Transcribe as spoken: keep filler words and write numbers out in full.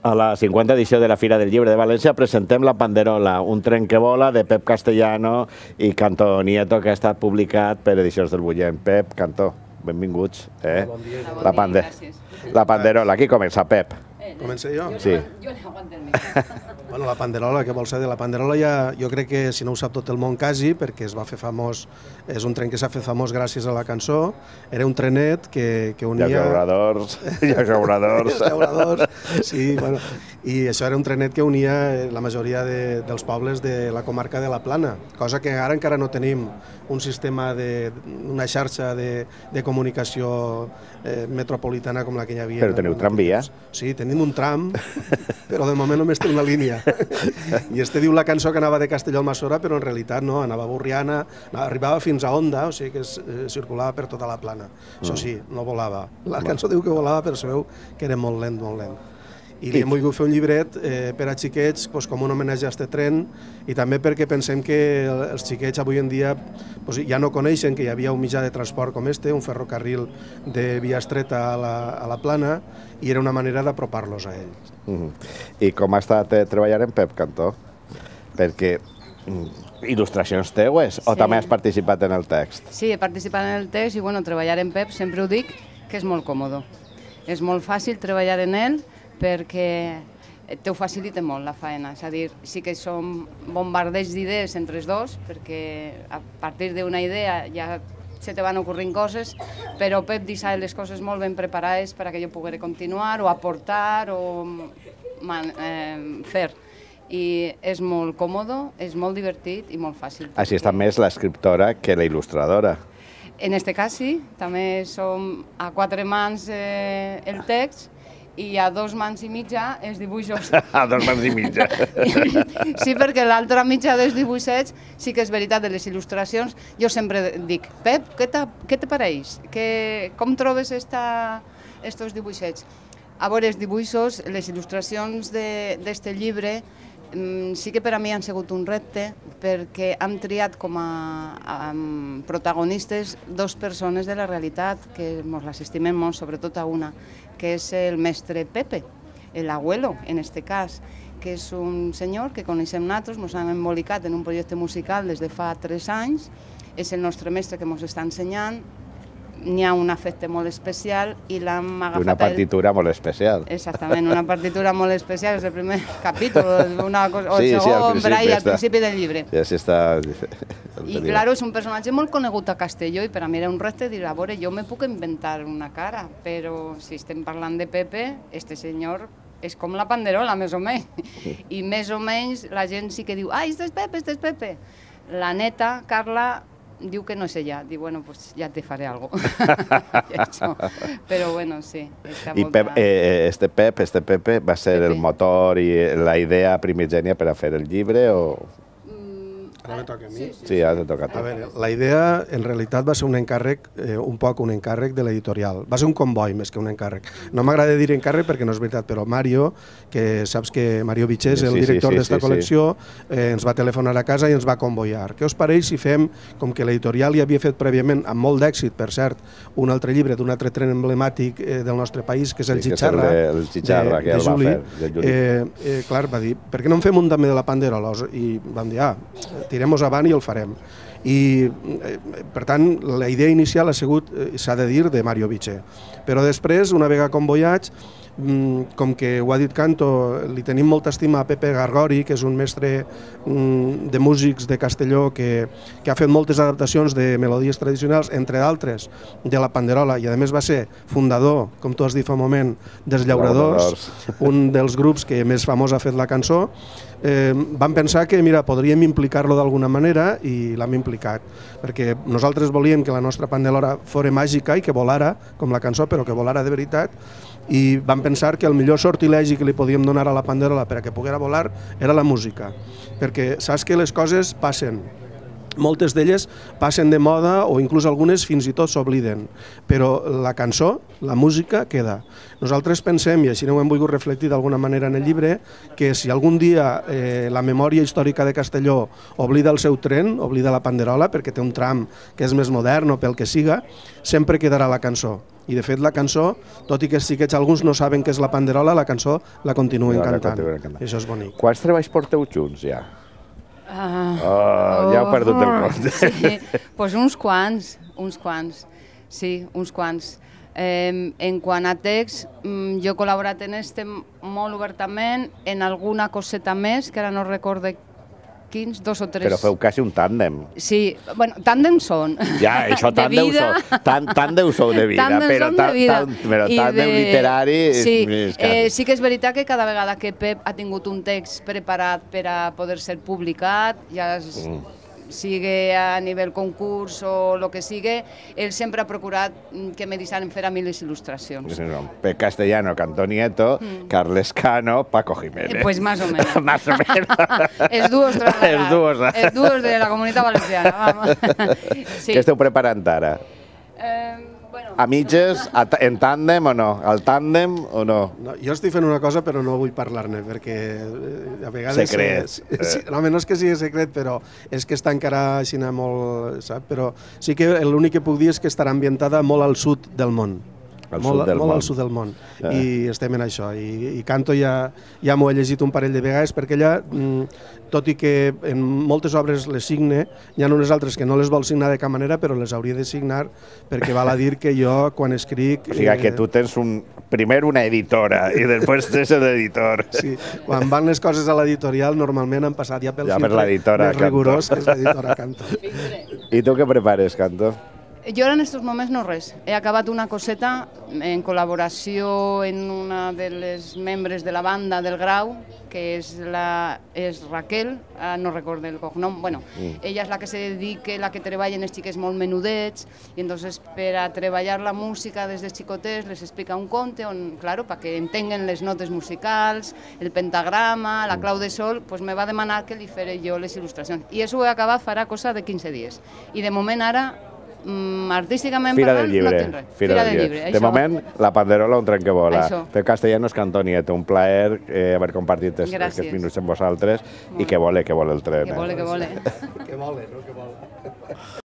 A la cinquanta edició de la Fira del Llibre de València presentem La Panderola, un tren que vola de Pep Castellano i Cantó Nieto, que ha estat publicat per Edicions del Bullent. Pep, Cantó, benvinguts. Bon dia. La Panderola, aquí comença, Pep. Comença jo? Sí. Jo l'aguanto el micro. Bueno, La Panderola, què vol ser de La Panderola? Ja, jo crec que, si no ho sap tot el món quasi, perquè es va fer famós, és un tren que s'ha fet famós gràcies a la cançó, era un trenet que, que unia... I els llauradors, i els llauradors. Els llauradors, sí, bueno, i això era un trenet que unia la majoria de, dels pobles de la comarca de la Plana, cosa que ara encara no tenim un sistema de, una xarxa de, de comunicació eh, metropolitana com la que hi havia. Però teniu tramvia? Sí, tenim un tram, però de moment només té una línia. I este diu la cançó que anava de Castelló al Massora, però en realitat no, anava a Borriana, arribava fins a Onda, o sigui que es, eh, circulava per tota la Plana. Això sí, no volava. La cançó diu que volava, però sabeu que era molt lent, molt lent. I li hem volgut fer un llibret eh, per a xiquets pues, com un homenatge a aquest tren i també perquè pensem que els xiquets avui en dia pues, ja no coneixen que hi havia un mitjà de transport com este, un ferrocarril de via estreta a la, a la Plana, i era una manera d'apropar-los a ells. Mm-hmm. I com ha estat eh, treballar en Pep, Cantó? Perquè mm, il·lustracions teues, o Sí. també has participat en el text? Sí, he participat en el text i bueno, treballar en Pep sempre ho dic que és molt còmode. És molt fàcil treballar en ell perquè te ho facilita molt la feina, és a dir, sí que som bombardeigs d'idees entre els dos, perquè a partir d'una idea ja se te van ocorrint coses, però Pep deixa les coses molt ben preparades perquè jo pugui continuar o aportar o man, eh, fer. I és molt còmode, és molt divertit i molt fàcil. Així està més l'escriptora que la il·lustradora. En este cas sí, també som a quatre mans eh, el text i a dos mans i mitja els dibuixos. A dos mans i mitja. Sí, perquè l'altra mitja dels dibuixets sí que és veritat, de les il·lustracions. Jo sempre dic, Pep, què te pareix? Que, com trobes esta, estos dibuixets? A veure, els dibuixos, les il·lustracions d'este llibre sí que per a mi han sigut un repte perquè hem triat com a, a protagonistes dos persones de la realitat que ens les estimem molt, sobretot a una, que és el mestre Pepe, el abuelo, en este cas, que és un senyor que coneixem nosaltres, ens hem embolicat en un projecte musical des de fa tres anys, és el nostre mestre que ens està ensenyant, n'hi ha un afecte molt especial i l'hem agafat... Una partitura molt especial. Exactament, una partitura molt especial, és el primer capítol, una cosa, o el sí, segon, sí, per ahí, al principi del llibre. Ja s'està... I, clar, és un personatge molt conegut a Castelló i per a mi era un repte dir, a veure, jo me puc inventar una cara, però si estem parlant de Pepe, este senyor és com la Panderola, més o menys. I més o menys la gent sí que diu, ah, este és Pepe, este és Pepe. La neta, Carla, diu que no és ella, diu, bueno, pues ja te faré algo. Però bueno, sí. I Pep, eh, este Pep, este Pepe, va ser Pepe. el motor i la idea primigènia per a fer el llibre o...? Ara me toca a mi? Sí, sí, Sí, ja t'ha tocat. A veure, la idea en realitat va ser un encàrrec, eh, un poc un encàrrec de l'editorial. Va ser un comboi més que un encàrrec. No m'agrada dir encàrrec perquè no és veritat, però Mario, que saps que Mario Vitxés, el Sí, sí, director sí, d'esta sí, col·lecció, eh, ens va telefonar a casa i ens va convoiar. Què us pareix si fem, com que l'editorial ja havia fet prèviament, amb molt d'èxit, per cert, un altre llibre d'un altre tren emblemàtic eh, del nostre país, que és el Sí, que és Chicharra, el de- el Chicharra, de, que de el va Juli. fer, de Juli. Eh, eh, clar, va dir, per què no en fem un també de la Panderola? I vam dir, ah, tirem-nos avant i el farem. I, eh, per tant, la idea inicial ha sigut, eh, s'ha de dir, de Mario Vitxe. Però després, una vegada convoiats, mm, com que ho ha dit Canto, li tenim molta estima a Pepe Gargori, que és un mestre mm, de músics de Castelló que, que ha fet moltes adaptacions de melodies tradicionals, entre d'altres, de la Panderola, i a més va ser fundador, com tu has dit fa un moment, dels Llauradors, un dels grups que més famós ha fet la cançó. Eh, vam pensar que mira, podríem implicar-lo d'alguna manera i l'hem implicat, perquè nosaltres volíem que la nostra Panderola fos màgica i que volara, com la cançó, però que volara de veritat, i vam pensar que el millor sortilegi que li podíem donar a la Panderola per a que poguera volar era la música, perquè saps que les coses passen moltes d'elles passen de moda o inclús algunes fins i tot s'obliden, però la cançó, la música, queda. Nosaltres pensem, i així ho hem volgut reflectir d'alguna manera en el llibre, que si algun dia eh, la memòria històrica de Castelló oblida el seu tren, oblida la panderola, perquè té un tram que és més modern o pel que siga, sempre quedarà la cançó. I de fet la cançó, tot i que sí que alguns no saben què és la panderola, la cançó la continuen cantant. Això és bonic. Quants treballs porteu junts ja? Uh, oh, ja heu perdut el compte. Sí, pues uns quants, uns quants, sí, uns quants. Eh, en quant a text, jo he col·laborat en este molt obertament, en alguna coseta més, que ara no recorde quins, dos o tres. Però feu quasi un tàndem. Sí, bueno, tàndem són. Ja, això tàndem sou, tàndem sou de vida, però tàndem literari... Sí que és veritat que cada vegada que Pep ha tingut un text preparat per a poder ser publicat, ja sigui a nivell concurs o el que sigui, ell sempre ha procurat que me deixaren fer a mi les il·lustracions. Pep Castellano, Cantó Nieto, Carles Cano, Paco Jiménez. Pues más o menos. Más o menos. Els duos Els duos. Els duos de la Comunitat Valenciana. Què esteu preparant ara? A mitges, en tàndem o no? Al tàndem o no? Jo estic fent una cosa però no vull parlar-ne perquè a vegades... Secret. No, no és que sigui secret, però és que està encara així molt... Però sí que l'únic que puc dir és que estarà ambientada molt al sud del món. Molt al sud del món. I estem en això. I Canto ja m'ho he llegit un parell de vegades perquè ella, tot i que en moltes obres les signe, hi ha unes altres que no les vol signar de cap manera, però les hauria de signar perquè val a dir que jo, quan escric... O sigui que tu tens primer una editora i després tens l'editor. Sí, quan van les coses a l'editorial normalment han passat ja pel filtre més rigorós, que és l'editora Canto. I tu què prepares, Canto? Jo ara en aquests moments no res. He acabat una coseta en col·laboració en una de les membres de la banda del Grau, que és Raquel, no recordo el cognom, bueno, ella és la que se dedica, la que treballa en els xiquets molt menudets, i entonces per a treballar la música des de xicotets les explica un conte on, claro, perquè entenguen les notes musicals, el pentagrama, la clau de sol, pues me va demanar que li faré jo les il·lustracions. I això ho he acabat farà cosa de quinze dies. I de moment ara artísticament parlant, no tinc res. Fira del llibre. De moment, la panderola, un tren que vola. Pep Castellanos, Cantó Nieto, un plaer haver compartit aquests minuts amb vosaltres i que vole, que vole el tren. Que vole, que vole. Que vole, no? Que vole.